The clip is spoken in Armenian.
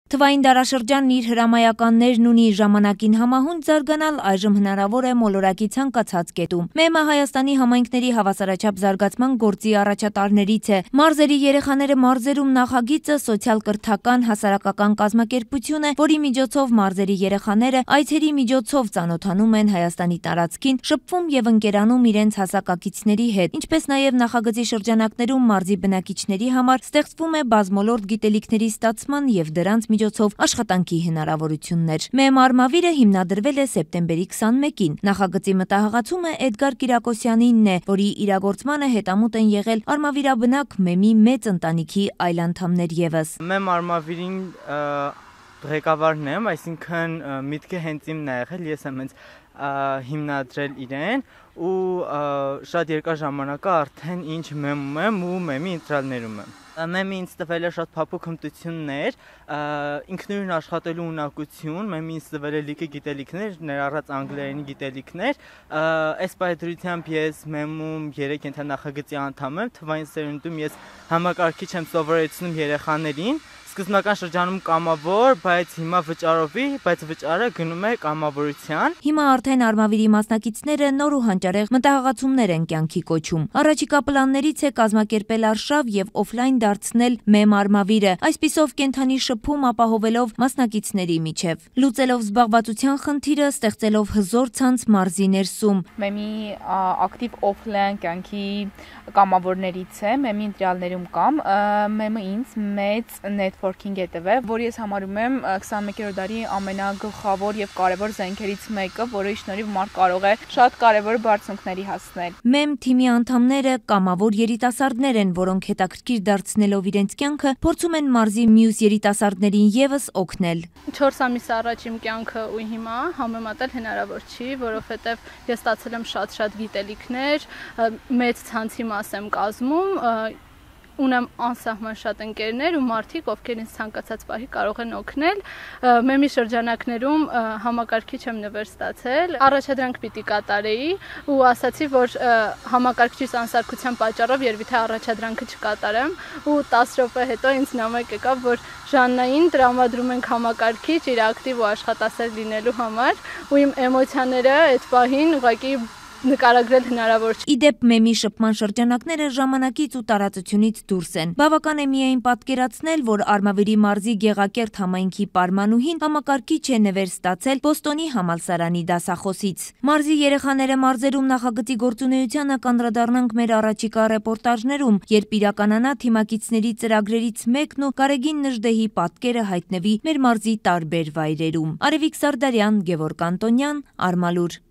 Թվային դարաշրջանն իր հրամայականներն ունի, ժամանակին համահունչ զարգանալ այժմ հնարավոր է մոլորակի ցանկացած կետում։ ՄԵՄ-ը Հայաստանի համայնքների հավասարաչափ զարգացման գործի առաջատարներից է։ Մարզերի երեխաները մարզերում նախագիծը սոցիալ-կրթական հասարակական կազմակերպություն է, որի միջոցով մարզերի երեխաները այցերի միջոցով ծանոթանում են Հայաստանի տարածքին, շփվում եւ ընկերանում իրենց հասակակիցների հետ, ինչպես նաեւ նախագծի շրջանակներում մարզի բնակիչների համար ստեղծվում է բազմոլորտ գիտելիքների ստացման եւ դրանց միջոցով աշխատանքի հնարավորություններ։ ՄԵՄ Արմավիրը հիմնադրվել է սեպտեմբերի 21-ին։ Նախագծի մտահղացումը Էդգար Կիրակոսյանինն է, որի իրագործմանը հետամուտ են եղել արմավիրաբնակ ՄԵՄ-ի մեծ ընտանիքի այլ անդամներ եւս։ ՄԵՄ Արմավիրին ղեկավարն եմ, այսինքն միտքը հենց իմն է եղել, ես եմ հենց հիմնադրել իրեն ու շատ երկար ժամանակ արդեն ինչ ՄԵՄ-ում եմ ու ՄԵՄ-ի ընտրալներում եմ։ ՄԵՄ-ը ինձ տվել է շատ փափուկ հմտություններ, ինքնուրույն աշխատելու ունակություն, ՄԵՄ-ը ինձ տվել է լիքը գիտելիքներ, ներառած անգլերենի գիտելիքներ, այս պայծրությամբ ես ՄԵՄ-ում 3 ենթանախագծի անդամ եմ, թվային սերունդում ես համակարգիչ եմ սովորեցնում երեխաներին, սկզբնական շրջանում կամավոր, բայց հիմա վճարովի, բայց վճարը գնում է կամավորության։ Հիմա արդեն Արմավիրի մասնակիցները նոր ու հանճարեղ մտահղացումներ են կյանքի կոչում։ Առաջիկա պլաններից է կազմակերպել արշավ եւ օֆլայն դարձնել ՄԵՄ Արմավիրը, այսպիսով կենթանի շփում ապահովելով մասնակիցների միջև։ Լուծելով զբաղվածության խնդիրը, ստեղծելով հզոր ցանց մարզի ներսում։ ՄԵՄ-ի ակտիվ օֆլայն կյանքի կամավորներից է, ՄԵՄ-ի ընտրյալներում կամ ՄԵՄ-ը ինձ մեծ նետվորքինգ է տվել, որ ես համարում եմ 21-րդ դարի ամենագլխավոր եւ կարեւոր զենքերից մեկը, որի շնորհիվ մարդ կարող է շատ կարեւոր բարձունքների հասնել։ ՄԵՄ թիմի անդամները կամավոր երիտասարդներ են, որոնք հետաքրքիր դարձնելով իրենց կյանքը փորձում են մարզի մյուս երիտասարդներին եւս օգնել։ 4 ամիս առաջ իմ կյանքը ու հիմա համեմատել հնարավոր չի, որովհետեւ ես ստացել եմ շատ գիտելիքներ, մեծ ցանցի մաս եմ կազմում, ունեմ անսահման շատ ընկերներ ու մարդիկ, ովքեր ինձ ցանկացած պահի կարող են օգնել։ ՄԵՄ-ի շրջանակներում համակարգիչ եմ նվեր ստացել, առաջադրանք պիտի կատարեի ու ասացի, որ համակարգչից անսարքության պատճառով երևի թե առաջադրանքը չկատարեմ ու 10 րոպե հետո ինձ նամակ եկավ, որ Ժաննային տրամադրում ենք համակարգիչ իր ակտիվ ու աշխատասեր լինելու համար ու իմ էմոցիաները այդ պահին ուղղակի նկարագրել հնարավոր չէ։ Իդեպ ՄԵՄ-ի շփման շրջանակները ժամանակից ու տարածությունից դուրս են։ Բավական է միայն պատկերացնել, որ Արմավիրի մարզի Գեղակերտ համայնքի պարմանուհին համակարգիչ է նվեր ստացել Բոստոնի համալսարանի դասախոսից։ Մարզի երեխաները մարզերում նախագծի գործունեությանը կանդրադառնանք մեր առաջիկա ռեպորտաժներում, երբ իրականանա թիմակիցների ծրագրերից մեկն ու Գարեգին Նժդեհի պատկերը հայտնվի մեր մարզի տարբեր վայրերում։ Արևիկ Սարդարյան, Գևորգ Անտոնյան, Արմալուր։